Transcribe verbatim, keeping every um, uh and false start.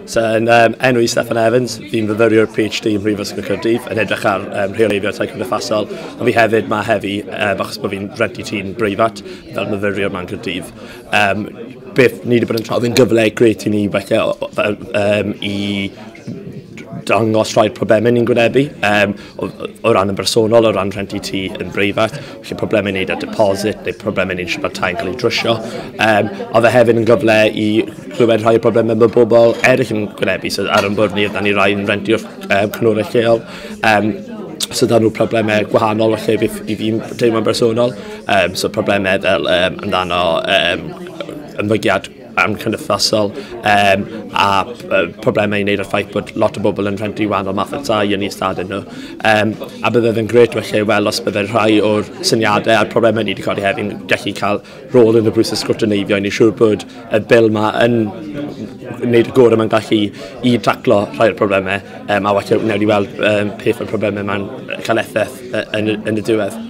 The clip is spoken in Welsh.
So, yn um, enw i Steffan Evans, fi'n fyfyriwr P H D ym Mhrifysgol Caerdydd yn edrych ar um, rheoleiddio tai cymdeithasol, ond fi hefyd ma heddi, um, achos bod fi'n rhentu tŷ'n breifat fel myfyriwr ma'n Caerdydd. Um, beth ni wedi bod yn trafod yn gyfle grêt i ni falle um, i dangos rhai problemau ni'n gwynebu, um, o, o ran yn bersonol, o ran rhentu tŷ yn breifat, felly problemau i wneud â deposit, neu problemau i wneud siŵr bod tai'n cael ei drwsio. Um, oedd e hefyd yn gyfle i clywed rhai o'r problemau mae bobl eraill yn gwynebu, so ar ein bwrdd ni, oedden ni rai yn rentu o'r um, cyngorau lleol. Um, so da nhw problemau gwahanol felly i fi'n teimlo'n bersonol. Um, so problemau fel um, amdano um, ymddygiad amcymdeithasol um, a uh, problemau i wneud â'r ffaith bod lot o bobl yn rhentu wahanol math o tai yn eu ystadau nhw. Um, a bydde fe'n grêt felly wel os bydde rhai o'r syniadau a'r problemau ni wedi codi heddi'n gallu cael rôl yn y broses sgrwtineiddio i ni siŵr bod y bil ma yn wneud y gorau mae'n gallu i taclo rhai o'r problemau um, a falle wnawn ni weld um, peth o'r problemau ma'n cael effaith yn, yn y diwedd.